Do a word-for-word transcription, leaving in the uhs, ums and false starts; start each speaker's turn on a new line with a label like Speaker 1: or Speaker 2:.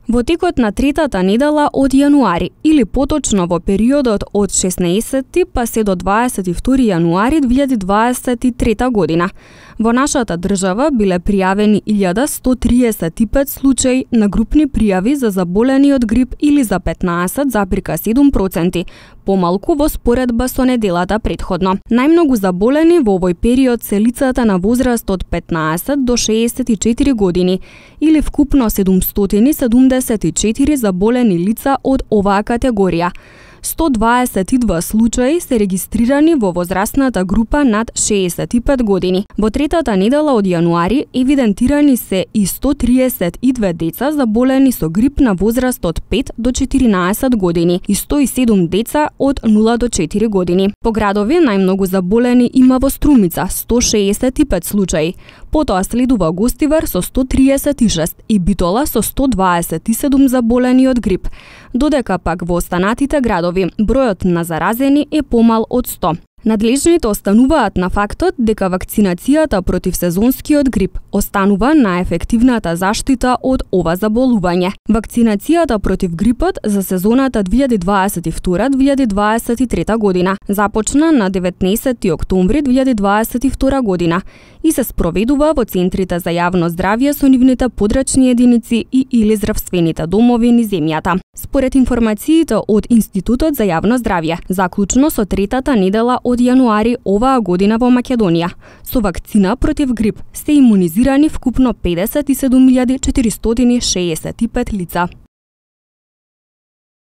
Speaker 1: Во текот на третата недела од јануари, или поточно во периодот од шеснаесети па се до дваесет и втори јануари две илјади дваесет и трета година, во нашата држава биле пријавени илјада сто триесет и пет случаи на групни пријави за заболени од грип или за петнаесет запирка седум проценти, помалку во споредба со неделата претходно. Најмногу заболени во овој период се лицата на возраст од петнаесет до шеесет и четири години, или вкупно седумстотини седумдесет и четири заболени лица од оваа категорија. сто дваесет и два случаи се регистрирани во возрастната група над шеесет и пет години. Во третата недела од јануари евидентирани се и сто триесет и две деца заболени со грип на возраст од пет до четиринаесет години и сто и седум деца од нула до четири години. По градови најмногу заболени има во Струмица сто шеесет и пет случаи, потоа следува Гостивар со сто триесет и шест и Битола со сто дваесет и седум заболени од грип, додека пак во останатите градови бројот на заразени е помал од сто. Надлежните остануваат на фактот дека вакцинацијата против сезонскиот грип останува најефективната заштита од ова заболување. Вакцинацијата против грипот за сезоната две илјади дваесет и втора - две илјади дваесет и трета година започна на деветнаесети октомври две илјади дваесет и втора година и се спроведува во центрите за јавно здравје со нивните подрачни единици и или здравствените домови низ земјата. Според информациите од Институтот за јавно здравје, заклучно со третата недела од јануари оваа година во Македонија, со вакцина против грип се имунизирани вкупно педесет и седум илјади четиристотини шеесет и пет лица.